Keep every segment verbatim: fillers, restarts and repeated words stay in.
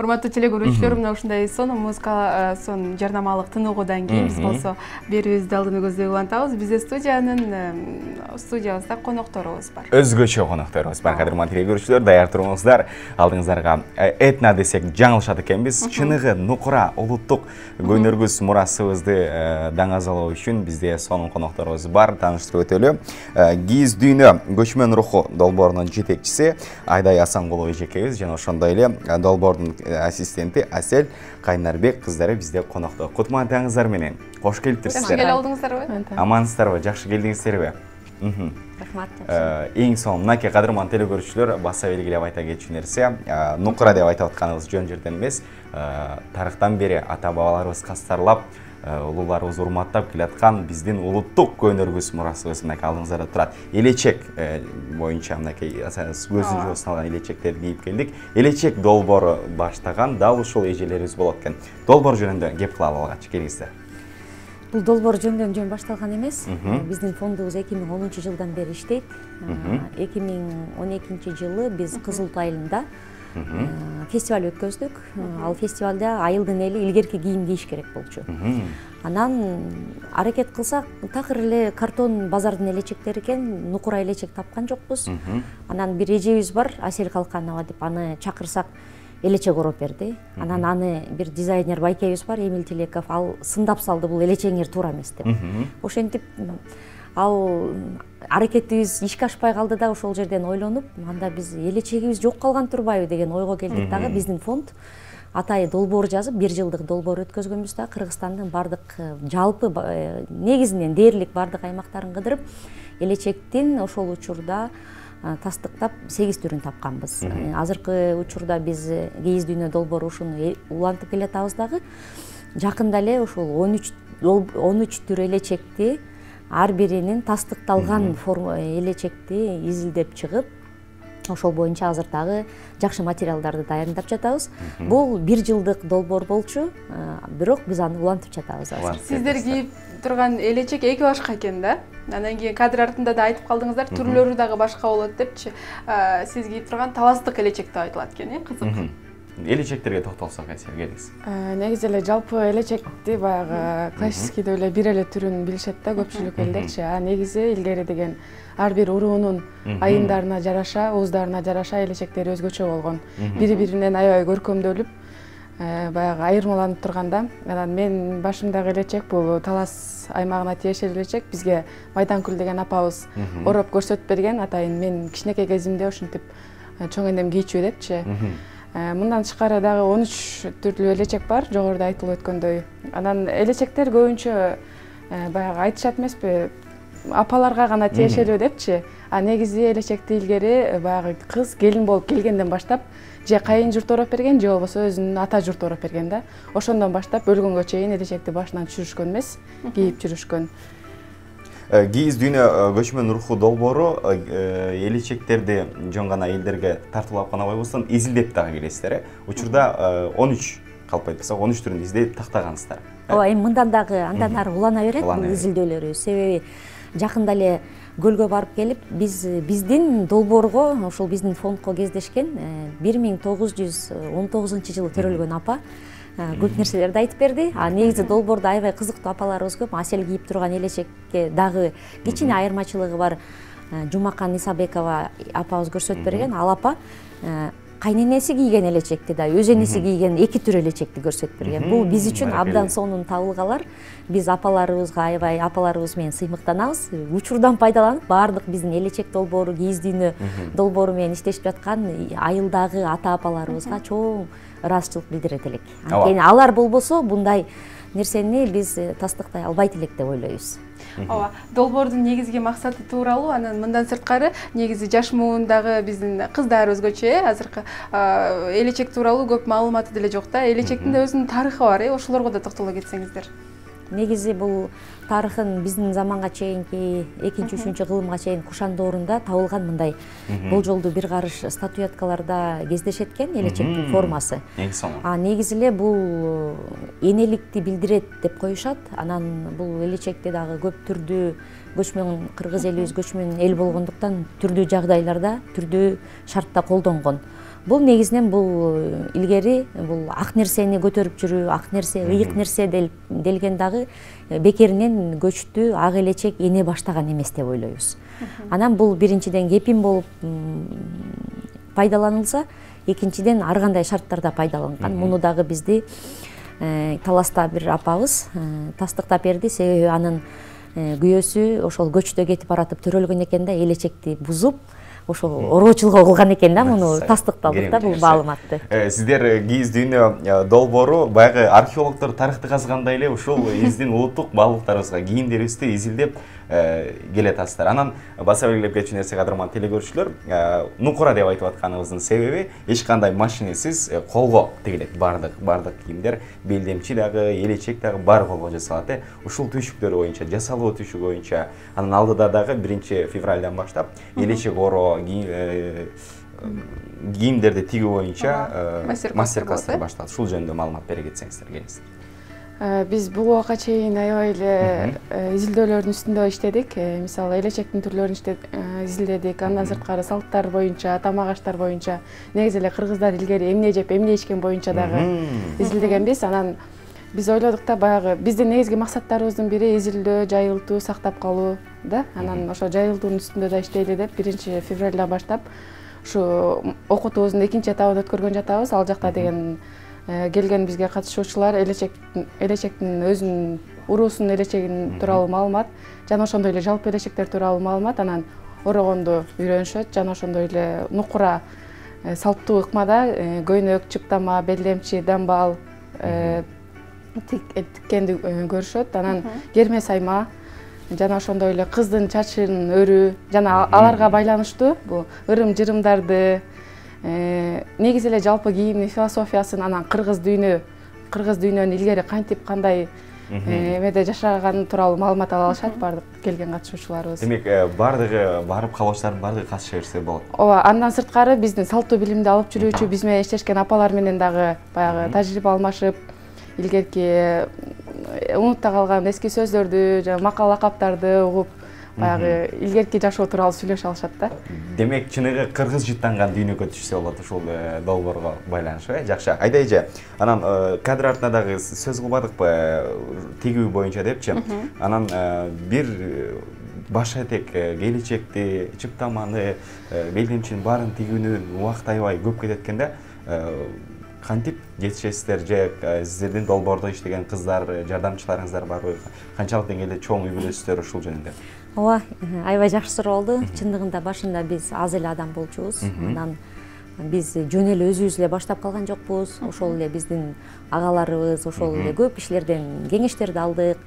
Урматтуу телегөрүүчүлөр, мына ушундай сонун музыка, сонун жарнамалык тыныгуудан кийин биз болсо берүүбүздү алдыны көздөй улантабыз. Бизде студиянын студиябызда конокторубуз бар. Өзгөчө конокторубуз бар. Кадырман телегөрүүчүлөр, даяр туруңуздар. Алдыңыздарга этно десек жаңылышат экенбиз. Чыныгы нукура улуттук көнөргүс мурасыбызды даңазалоо үчүн бизде сонун конокторубуз бар. Тааныштырып өтөлү. Кийиз дүйнө көчмөн руху долбоорунун жетекчиси Айдай Асанкулова эжекебиз жана ошондой эле долбоордун ассистенти Асель Кайнарбек кыздары бизде конокто. Кутмандаңыздар менен. Кош келиптирсиздер. Жакшы келип алдыңыздарбы? Амансыздарбы? Жакшы келдиңиздерби? Рахмат. Эң сонун мынакей Кадырман телегөрүүчүлөр баса белгилеп айта кетчү нерсе, нукура деп айтып атканыбыз жөн жерден эмес. Тарыхтан бери ата бабаларыбыз кастарлап, улууларыбыз урматтап келаткан биздин улуттук көнөргүс мурасыбыз мынакей алдыңыздарда турат. Элечек боюнча мынакей көзүн жууп салган элечектерди кийип келдик. Элечек долбоору баштаган дал ушул эжелерибиз болот экен. Долбоор жөнүндө кеп кылалы алгач келиңиздер. Бул долбоор жөндөн жөн башталган эмес. Биздин фондубуз эки миң онунчу жылдан бери иштейт. эки миң он экинчи жылы биз Кызыл айылында фестиваль өткөздүк. Ал фестивалда айылдын эли илгерки кийим кийиш керек болчу. Анан аракет кылсак, такыр эле картон базардын элечектери экен, нукура элечек тапкан жокпуз. Анан бир эжебиз бар, Асель Калканова деп, аны чакырсак элечек ороп берди. Анан аны бир дизайнер байкебиз бар, Эмил Тилеков, ал сындап салды, бул элечеңер туура эмес деп. Ошентип ал аракетибиз ишке ашпай калды да, ошол жерден ойлонуп, анда биз элечегибиз жок калган турбайбы деген ойго келдик дагы. Биздин фонд атайы долбоор жазып, бир жылдык долбоор өткөзгөнбүз да, Кыргызстандын бардык жалпы негизинен дээрлик бардык аймактарын кыдырып, элечектин ошол учурда тастыктап сегиз түрүн тапканбыз. Азыркы учурда биз кийиз дүйнө долбоору ушуну улантып келатабыз дагы. Жакында эле ошол он үч түр элечекти, ар биринин тастыкталган форма элечекти изилдеп чыгып, ошол боюнча азыр дагы жакшы материалдарды даярдап жатабыз. Бул бир жылдык долбоор болчу, бирок биз аны улантып жатабыз азыр. Сиздер кийип турган элечек эки башка экен да. Анан кийин кадр артында да айтып калдыңыздар, түрлөрү дагы башка болот депчи. Сиз кийип турган таластык элечек деп айтылат экен, э, кызык. Элечектерге токтолсок, келиңиз. Негизи эле жалпы элечекти баягы классический деп эле бир эле түрүн билишет да көпчүлүк элдерчи. А негизи илгери деген ар бир уруунун айымдарына жараша, ууздарына жараша элечектери өзгөчө болгон. Бири-биринен аябай көркөмдөлүп, баягы айырмаланып турганда, анан мен башымдагы элечек бул Талас аймагына тиешелүү элечек. Бизге Майданкүл деген апабыз ороп көрсөтүп берген. Атайын мен кичинекей кезимде ушинтип чоң энем кийчү депчи. Мындан тышкары дагы он үч түрлүү элечек бар, жогоруда айтылып өткөндөй. Анан элечектер көбүнчө баягы айтышат эмеспи, апаларга гана тиешелүү депчи. А негизи элечекти илгери баягы кыз келин болуп келгенден баштап же кайын журт ороп берген, же болбосо өзүнүн ата журту ороп берген да. Ошондон баштап өлгөнгө чейин элечекти башынан түшүрүшкөн эмес, кийип жүрүшкөн. Кийиз дүйнө көчмөн руху долбоору элечектерди жөн гана элдерге тартуулап гана койбостон изилдеп дагы келесиздер. Учурда он үч калп айтпасак он үч түрүн изилдеп тактагансыздар. Ооба, эми мындан дагы андан ары улана берет бул изилдөөлөрү. Себеби жакында эле көлгө барып келип, биз биздин долбоорго, ошол биздин фондко кездешкен бир миң тогуз жүз он тогузунчу жылы төрөлгөн апа көп нерселерди айтып берди. А негизи долбоордо аябай кызыктуу апаларыбыз көп. Асель кийип турган элечекке дагы кичине айырмачылыгы бар. Жумакан Исабекова апабыз көрсөтүп берген. Ал апа кайненеси кийген элечекти да, өз энеси кийген эки түр элечекти көрсөтүп берген. Бул биз үчүн абдан сонун табылгалар. Биз апаларыбызга аябай апаларыбыз менен сыймыктанабыз. Учурдан пайдаланып, баардык биздин элечек долбоору, кийиз дүйнө долбоору менен иштешип жаткан айылдагы ата апаларыбызга чоң ыраазычылык билдирет элек. Анткени алар болбосо мындай нерсени биз тастыктай албайт элек деп ойлойбуз. Ооба, долбоордун негизги максаты тууралуу, анан мындан сырткары негизи жаш муундагы биздин кыздар өзгөчө, э, азыркы элечек тууралуу көп маалыматы деле жок да. Элечектин да өзүнүн тарыхы бар, э, ошолорго да токтоло кетсеңиздер. негизи бул тарыхын биздин заманга чейинки экинчи үчүнчү кылымга чейин кушан доорунда табылган мындай болжолдуу бир карыш статуэткаларда кездешет экен, элечектин формасы. А негизи эле бул энеликти билдирет деп коюшат. Анан бул элечекти дагы көп түрдүү көчмөн кыргыз элибиз көчмөн эл болгондуктан түрдүү жагдайларда, түрдүү шартта колдонгон. Бул негизинен бул илгери бул ак нерсени көтөрүп жүрүү, ак нерсе, ыйык нерсе делген дагы бекеринен көчтү ак элечек эне баштаган эмес деп ойлойбуз. Анан бул биринчиден кепин болуп пайдаланылса, экинчиден ар кандай шарттарда пайдаланган. Муну дагы бизди таласта бир апабыз тастыктап берди, себеби анын күйөөсү ошол көчтө кетип баратып төрөлгөн экен да, элечекти бузуп ошол ороочулук кылган экен да, муну тастыкталдык да бул маалыматты. Сиздер кийиз дүйнө долбоору баягы археологдор тарыхты казгандай эле ушул биздин улуттук баалыктарыбызга, кийимдерибизди изилдеп келатасыздар. Анан баса белгилеп кетчү нерсе, кадырман телекөрүүчүлөр, нукура деп айтып атканыбыздын себеби эч кандай машинесиз колго тигилет. Бардык бардык кийимдер, белдемчи дагы, элечек дагы баары колго жасалат. Ушул түйшүктөр боюнча, жасалуу түйшүк боюнча, анан алдыда дагы биринчи февралдан баштап элечек оро, кийимдерди тигүү боюнча мастер-класстар башталат. Ушул жөнүндө маалымат бере кетсеңиздер, келиңиз. Биз бул убакка чейин аябай эле изилдөөлөрдүн үстүндө иштедик. Мисалы, элечектин түрлөрүн изилдедик, андан сырткары салттар боюнча, тамак аштар боюнча, негизи эле кыргыздар илгери эмне жеп, эмне ичкен боюнча дагы изилдегенбиз. Анан биз ойлодук да, баягы биздин негизги максаттарыбыздын бири изилдөө, жайылтуу, сактап калуу да. Анан ошо жайылтуунун үстүндө да иштейли деп биринчи февралдан баштап ушу окутуубуздун экинчи этабын өткөргөн жатабыз. Ал жакта деген келген бизге катышуучулар элечектин өзүнүн уруусунун элечегин тууралуу маалымат жана ошондой эле жалпы элечектер тууралуу маалымат, анан орогонду үйрөнүшөт жана ошондой эле нукура салттуу ыкмада көйнөк, чыптама, белдемчи, дамбал тиккенди көрүшөт. Анан керме сайма жана ошондой эле кыздын чачын өрүү жана аларга байланыштуу бул ырым-жырымдарды, негизи эле жалпы кийимдин философиясын, анан кыргыз дүйнө, кыргыз дүйнөнүн илгери кантип кандай эмеде жашаганы тууралуу маалымат ала алышат бардык келген катышуучуларыбыз. Демек, бардыгы барып калуучулардын бардыгы катыша берсе болот. Ооба, андан сырткары биздин салттуу билимди алып жүрүүчү, биз менен иштешкен апалар менен дагы баягы тажрыйба алмашып, илгерки унутта калган эски сөздөрдү жана макал лакаптарды угуп, баягы илгерки жашоо тууралуу сүйлөшө алышат да. Демек, чыныгы кыргыз жыттанган дүйнөгө түшсө болот ушул долбоорго байланыштуу, э? Жакшы. Айда эже, анан кадр артына дагы сөз кылбадыкпы, тигүү боюнча депчи. Анан бир баш этек, келечекти, чыптаманы, белдемчинин баарын тигүүнү убакыт аябай көп кетет экен да. Кантип жетишесиздер же сиздердин долбоордо иштеген кыздар, жардамчыларыңыздар барбы? Канчалык деңгээлде чоң үй бүлөсүздөр ушул жөнүндө? Ооба, аябай жакшы суроо болду. Чындыгында башында биз аз эле адам болчубуз. Анан биз жөн эле өзүбүз эле баштап калган жокпуз. Ошол эле биздин агаларыбыз, ошол эле көп кишилерден кеңештерди алдык.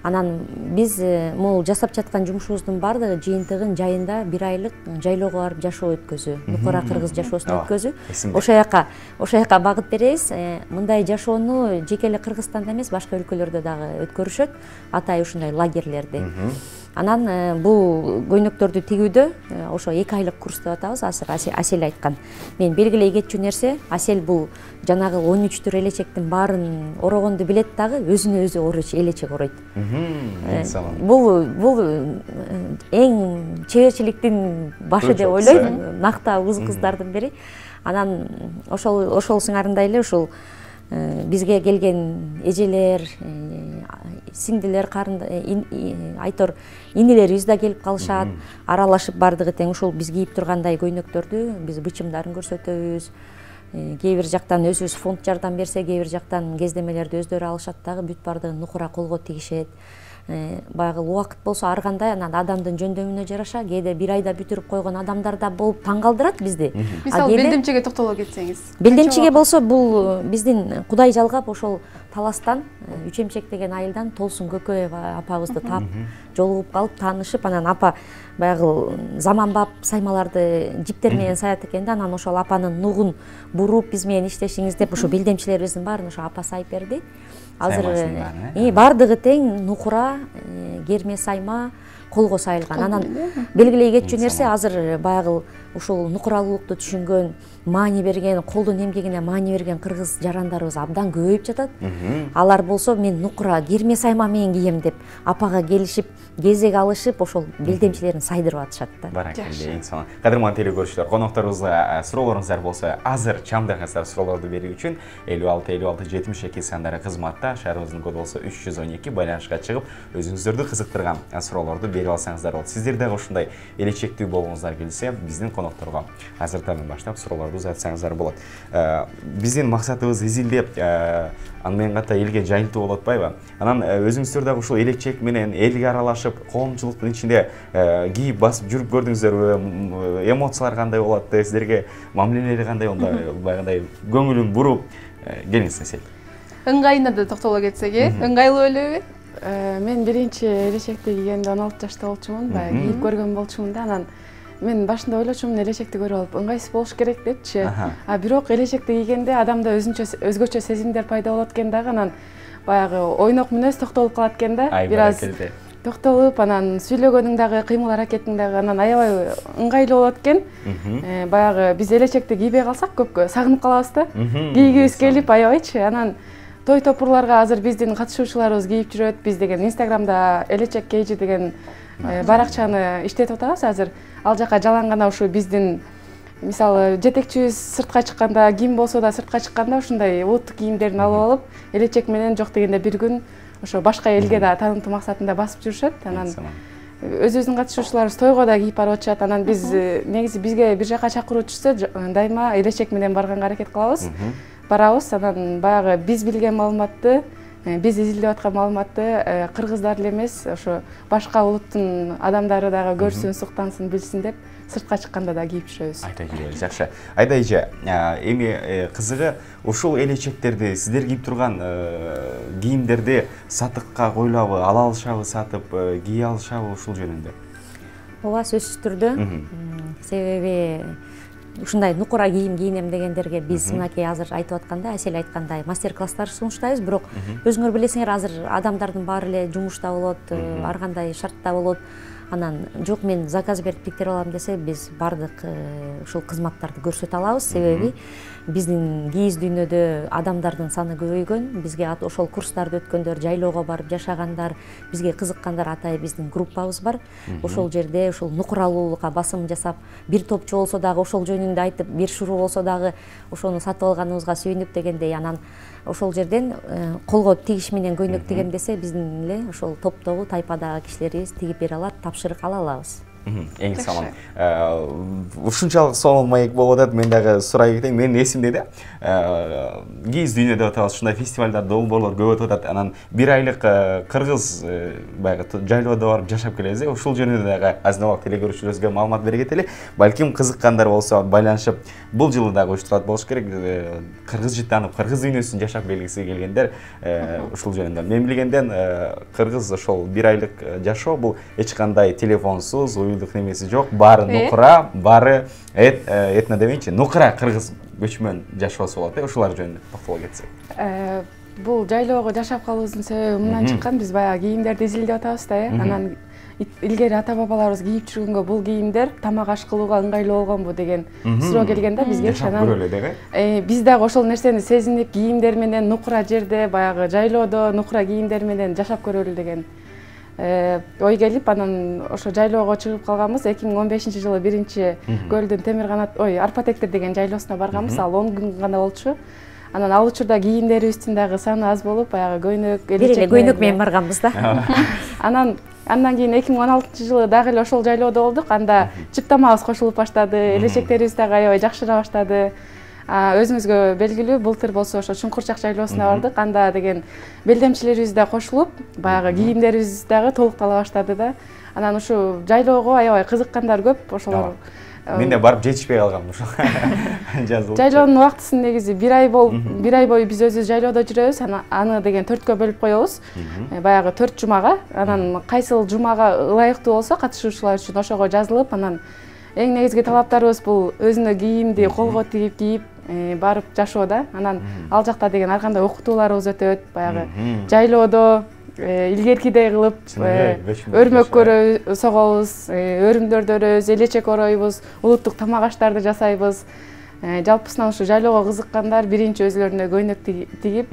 Анан биз могул жасап жаткан жумушубуздун баардыгы жыйынтыгын жайында бир айлык жайлоого барып жашоо өткөзүү, нукура кыргыз жашоосун өткөзүү. Ошол жака, ошол жака багыт беребиз. Мындай жашоону жеке эле Кыргызстанда эмес, башка өлкөлөрдө дагы өткөрүшөт, атайын ушундай лагерлерди. Анан бул көйнөктөрдү тигүүдө ошо эки айлык курс деп атабыз, азыр Асель айткан. Мен белгилей кетчү нерсе, Асель бул жанагы он үч түр элечектин баарын орогонду билет дагы, өзүнө өзү оройт, элечек оройт. Бул бул эң чеберчиликтин башы деп ойлойм, накта кыз кыздардын бири. Анан ошол ошол сыңарындай эле ушул бизге келген эжелер, сиңдилер, айтор инелерибиз да келип калышат, аралашып бардыгы тең ушул биз кийип тургандай көйнөктөрдү биз бычымдарын көрсөтөбүз. Кээ бир жактан өзүбүз фонд жардам берсе, кээ бир жактан кездемелерди өздөрү алышат дагы, бүт бардыгын нукура колго тигишет. Баягы убакыт болсо ар кандай, анан адамдын жөндөмүнө жараша, кээде бир айда бүтүрүп койгон адамдар да болуп таң калтырат бизди. Мисалы, белдемчиге токтоло кетсеңиз. Белдемчиге болсо бул биздин Кудай жалгап ошол Таластан Үч эмчек деген айылдан Толсун Көкөева апабызды таап жолугуп калып таанышып, анан апа баягы заманбап саймаларды жиптер менен саят экен да, анан ошол апанын нугун буруп биз менен иштешиңиз деп ошо билдемчилерибиздин баарын ошо апа сайып берди. Азыр бардыгы тең нукура, керме сайма колго сайылган. Анан белгилей кетчү нерсе азыр баягы ушул нукуралуулукту түшүнгөн, маани берген, колдун эмгегине маани берген кыргыз жарандарыбыз абдан көбөйүп жатат. Алар болсо мен нукура керме сайма менен кийем деп апага келишип, кезек алышып, ошол белдемчилерин сайдырып атышат да. Баракелде, эң сонун. Кадырман телекөрүүчүлөр, конокторубузга суроолоруңуздар болсо, азыр чамдагыңыздар суроолорду берүү үчүн элүү алты элүү алты жетимиш эки сандары кызматта, шаарыбыздын коду болсо үч жүз он эки, байланышка чыгып, өзүңүздөрдү кызыктырган суроолорду берип алсаңыздар болот. Сиздер дагы ушундай элечектүү болгуңуздар келсе, биздин конокторго азыртан баштап суроолорду узатсаңыздар болот. Биздин максатыбыз изилдеп, аны менен ката элге жайылтуу болуп атпайбы? Анан өзүңүздөр дагы ушул элечек менен элге аралашып, коомчулуктун ичинде кийип басып жүрүп көрдүңүздөрбү? Эмоциялар кандай болот? Сиздерге мамилелери кандай? Онда баягындай көңүлүн буруп, келиңиз эсеп. Ыңгайына да токтоло кетсек, э? Ыңгайлуу элеби? Мен биринчи элечекти кийгенде он алты жашта болчумун, баягы кийип көргөн болчумун да, анан мен башында ойлочумун элечекти көрүп алып ыңгайсыз болуш керек депчи. А бирок элечекти кийгенде адамда өзгөчө сезимдер пайда болот экен дагы, анан баягы ойнок мүнөз токтолуп калат экен да. Бир аз токтолуп, анан сүйлөгөнүң дагы, кыймыл аракетиң дагы анан аябай ыңгайлуу болот экен. Баягы биз элечекти кийбей калсак көпкө сагынып калабыз да. Кийгибиз келип аябайчы. Анан той топурларга азыр биздин катышуучуларыбыз кийип жүрөт. Биз деген Инстаграмда элечек кейжи деген баракчаны иштетип атабыз азыр. Ал жака жалаң гана ушу биздин мисалы жетекчибиз сыртка чыкканда, ким болсо да сыртка чыкканда ушундай улуттук кийимдерин алып алып, элечек менен жок дегенде бир күн ошо башка элге да таанытуу максатында басып жүрүшөт. Анан өзүбүздүн катышуучуларыбыз тойго да кийип барып атышат. Анан биз негизи бизге бир жака чакыруу түшсө, дайыма элечек менен барганга аракет кылабыз. Барабыз, анан баягы биз билген маалыматты, биз изилдеп аткан маалыматты кыргыздар эле эмес, ошо башка улуттун адамдары дагы көрсүн, суктансын, билсин деп сыртка чыкканда да кийип жүрөбүз. Айта келебиз, жакшы. Айда эже, эми кызыгы ушул элечектерди сиздер кийип турган кийимдерди сатыкка коюлабы, ала алышабы, сатып кие алышабы ушул жөнүндө? Ооба, сөзсүз түрдө. Себеби ушундай нукура кийим кийинем дегендерге биз мынакей азыр айтып аткандай, Асель айткандай мастер-класстар сунуштайбыз, бирок өзүңөр билесиңер, азыр адамдардын баары эле жумушта болот, ар кандай шартта болот. Анан жок мен заказ берип тиктирип алам десе, биз бардык ушул кызматтарды көрсөтө алабыз. Себеби биздин кийиз дүйнөдө адамдардын саны көбөйгөн, бизге ошол курстарды өткөндөр, жайлоого барып жашагандар, бизге кызыккандар атайын биздин группабыз бар. Ошол жерде ушул нукуралуулукка басым жасап, бир топчу болсо дагы ошол жөнүндө айтып, бир шуруу болсо дагы ошону сатып алганыбызга сүйүнүп дегендей, анан ошол жерден колго тигиш менен көйнөк тигем десе, биздин эле ошол топтогу, тайпадагы кишилерибиз тигип бере алат, тапшырык ала алабыз. Эң сонун. Ушунчалык сонун маек болуп атат, мен дагы сурай кетейин. Менин эсимде да, кийиз дүйнө деп атабыз, ушундай фестивалдар, долбоорлор көп өтүп атат. Анан бир айлык кыргыз баягы жайлоодо барып жашап келебиз. Ушул жөнүндө дагы азын-аулак телекөрүүчүлөрүбүзгө маалымат бере кетели. Балким кызыккандар болсо байланышып, бул жылы дагы уюштурат болуш керек. Кыргыз жытанып, кыргыз дүйнөсүн жашап келгиси келгендер ушул жөнүндө. Мен билгенден кыргыз ошол бир айлык жашоо бул эч кандай телефонсуз, уюлдук немеси жок, баары нукура, баары этно демейинчи, нукура кыргыз көчмөн жашоосу болот. Ушулар жөнүндө токтоло кетсек. Бул жайлоого жашап калуубуздун себеби мындан чыккан, биз баягы кийимдерди изилдеп атабыз да, э. Анан илгери ата бабаларыбыз кийип жүргөнгө бул кийимдер тамак аш кылууга ыңгайлуу болгонбу деген суроо келген да бизге. Анан биз дагы ошол нерсени сезинип, кийимдер менен нукура жерде, баягы жайлоодо нукура кийимдер менен жашап көрөлү деген ой келип, анан ошо жайлоого чыгып калганбыз. эки миң он бешинчи жылы биринчи Көлдүн темир канат, ой, Арпа тектир деген жайлоосуна барганбыз. Ал он күн гана болчу. Анан ал учурда кийимдерибиздин дагы саны аз болуп, баягы көйнөк, элечек көйнөк менен барганбыз да. Анан андан кийин эки миң он алтынчы жылы дагы эле ошол жайлоодо болдук. Анда чыптамабыз кошулуп баштады, элечектерибиз дагы аябай жакшыра баштады. Өзүңүзгө белгилүү, былтыр болсо ошо Чуңкурчак жайлоосуна бардык. Анда деген белдемчилерибиз да кошулуп, баягы кийимдерибиз дагы толуктала баштады да. Анан ушу жайлоого аябай кызыккандар көп. Ошолор Мен да барып жетишпей калгам ушул. Жазылып. Жайлоонун убактысын негизи бир ай болуп, бир ай бою биз өзүбүз жайлоодо жүрөбүз. Аны деген төрткө бөлүп коебуз. Баягы төрт жумага. Анан кайсыл жумага ылайыктуу болсо катышуучулар үчүн ошого жазылып, анан эң негизги талаптарыбыз бул өзүнө кийимди колго тигип кийип барып жашоо да. Анан ал жакта деген ар кандай окутууларыбыз өтөт. Баягы жайлоодо илгеркидей кылып өрмөккөр согобуз, өрүмдөрдү өрөбүз, элечек оройбуз, улуттук тамак аштарды жасайбыз. Жалпысынан ушу жайлоого кызыккандар биринчи өзүлөрүнө көйнөк тигип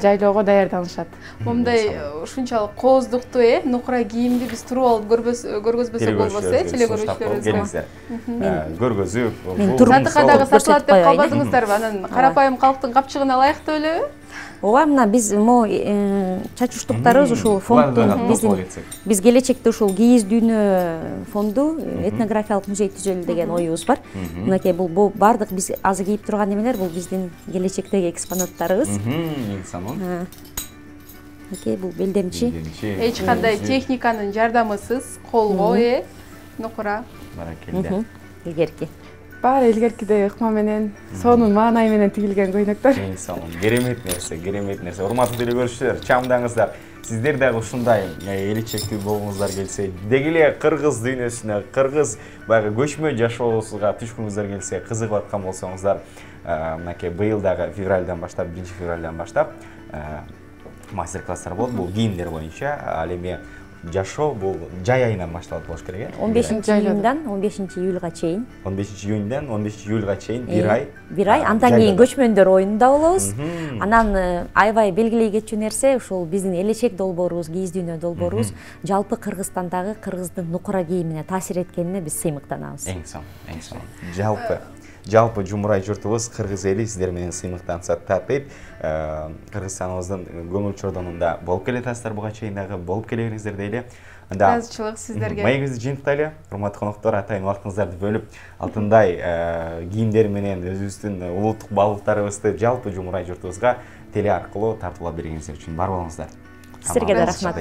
жайлоого даярданышат. Момундай ушунчалык кооздуктуу э нукура кийимди биз туруп алып көргөзбөсөк болбосо э теле көрүүчүлөрүбүзгө. Көргөзүп, сатыкка дагы сатылат деп калбадыңыздарбы? Анан карапайым калктын капчыгына ылайык деп элеби? Ооба, мына биз могу чачуштуктарыбыз ушул фонддун биздин биз келечекте ушул кийиз дүйнө фонду этнографиялык музей түзөлү деген оюбуз бар. Мынакей бул бардык биз азыр кийип турган эмелер бул биздин келечектеги экспонаттарыбыз. Мынакей бул белдемчи. Эч кандай техниканын жардамысыз колго э нукура. Баракелде. Илгерки. Баары илгеркидей ыкма менен, сонун маанай менен тигилген көйнөктөр. Эң сонун, керемет нерсе, керемет нерсе. Урматтуу теле көрүүчүлөр, чамдаңыздар. Сиздер дагы ушундай элечектүү болгуңуздар келсе, деги эле кыргыз дүйнөсүнө, кыргыз баягы көчмө жашоосуга түшкүңүздөр келсе, кызыгып аткан болсоңуздар, мынакей быйыл дагы февралдан баштап, биринчи февралдан баштап мастер-класстар болот. Бул кийимдер боюнча, ал эми жашоо бул жай айынан башталат болуш керек э. он бешинчи июндан он бешинчи июлга чейин. он бешинчи июндан он бешинчи июлга чейин бир ай. бир ай. Андан кийин көчмөндөр оюнунда болобуз. Анан аябай белгилей кетчү нерсе ушул биздин элечек долбоорубуз, кийиз дүйнө долбоорубуз жалпы Кыргызстандагы кыргыздын нукура кийимине таасир эткенине биз сыймыктанабыз. Эң сонун, эң сонун. Жалпы жалпы жумурай журтубуз, кыргыз эли сиздер менен сыймыктансат татыйт. Кыргызстаныбыздын көңүл чордонунда болуп келатасыздар буга чейин дагы болуп келе бериңиздер дейли. Анда ыраазычылык сиздерге. Маегибизди жыйынтайлы. Урматтуу коноктор, атайын убактыңыздарды бөлүп, алтындай кийимдер менен өзүбүздүн улуттук баалуулуктарыбызды жалпы жумурай журтубузга теле аркылуу тартуулап бергениңиздер үчүн бар болуңуздар. Сиздерге да рахмат.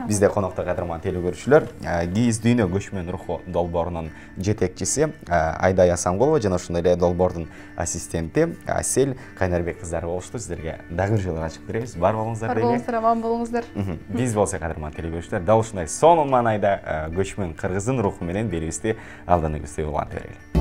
Бизде конокто кадырман теле көрүүчүлөр, кийиз дүйнө көчмөн руху долбоорунун жетекчиси Айдай Асанголова жана ошондой эле долбоордун ассистенти Асель Кайнарбек кыздары болушту. Сиздерге дагы бир жолу ачык беребиз. Бар болуңуздар дейли. Бар болуңуздар, аман болуңуздар. Биз болсо кадырман теле көрүүчүлөр, дал ушундай сонун маанайда көчмөн кыргыздын руху менен берүүбүздү алдан элестеп улантып берели.